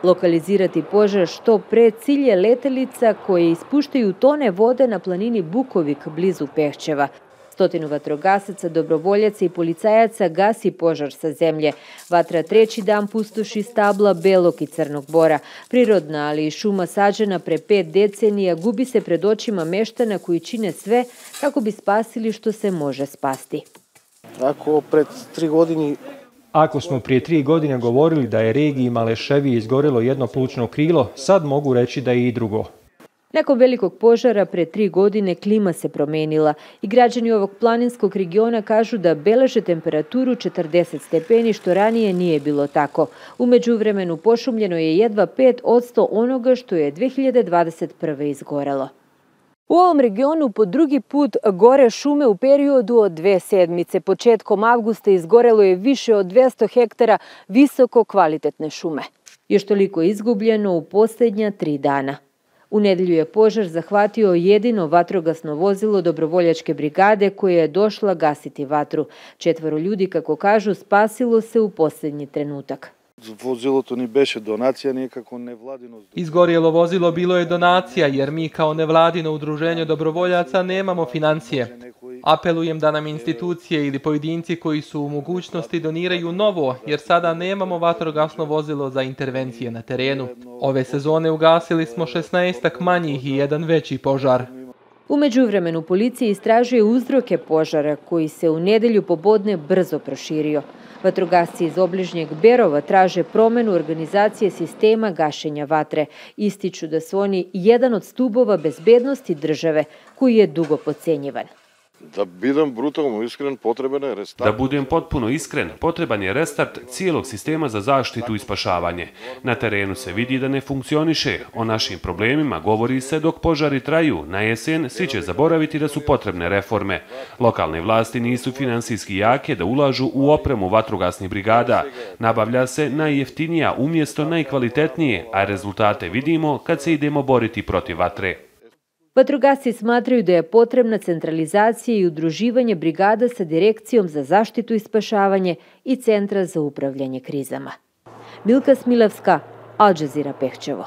Lokalizirati požar što pre cilj je letelica koje ispuštaju tone vode na planini Bukovik blizu Pehćeva. 100 vatrogasaca, dobrovoljaca i policajaca gasi požar sa zemlje. Vatra treći dan pustoši stabla belog i crnog bora. Prirodna, ali i šuma sađena pre 5 decenija gubi se pred očima meštana koji čine sve kako bi spasili što se može spasti. Ako smo prije 3 godine govorili da je regiji Maleševije izgorelo jedno plućno krilo, sad mogu reći da je i drugo. Nakon velikog požara pre 3 godine klima se promenila i građani ovog planinskog regiona kažu da beleže temperaturu 40 stepeni, što ranije nije bilo tako. U međuvremenu pošumljeno je jedva 5% onoga što je 2021. izgorelo. U ovom regionu po drugi put gore šume u periodu od 2 sedmice. Početkom avgusta izgorelo je više od 200 hektara visoko kvalitetne šume. Još toliko izgubljeno u posljednja 3 dana. U nedelju je požar zahvatio jedino vatrogasno vozilo dobrovoljačke brigade koje je došla gasiti vatru. 4 ljudi, kako kažu, spasilo se u posljednji trenutak. Vozilото ni беше donacija, nije kako nevladino. Izgorjelo vozilo bilo je donacija jer mi kao nevladino udruženje dobrovoljaca nemamo financije. Apelujem da nam institucije ili pojedinci koji su u mogućnosti doniraju novo, jer sada nemamo vatrogasno vozilo za intervencije na terenu. Ove sezone ugasili smo 16 manjih i jedan veći požar. U međuvremenu policija istražuje uzroke požara koji se u nedelju popodne brzo proširio. Vatrogasci iz obližnjeg Berova traže promenu organizacije sistema gašenja vatre. Ističu da su oni jedan od stubova bezbednosti države koji je dugo potcenjivan. Da budem potpuno iskren, potreban je restart cijelog sistema za zaštitu i spašavanje. Na terenu se vidi da ne funkcioniše. O našim problemima govori se dok požari traju. Na jesen svi će zaboraviti da su potrebne reforme. Lokalne vlasti nisu finansijski jake da ulažu u opremu vatrogasnih brigada. Nabavlja se najjeftinija umjesto najkvalitetnije, a rezultate vidimo kad se idemo boriti protiv vatre. Vatrogasci smatraju da je potrebna centralizacija i udruživanje brigada sa Direkcijom za zaštitu i spašavanje i Centra za upravljanje krizama. Milka Smilavska, Al Jazeera, Pehćevo.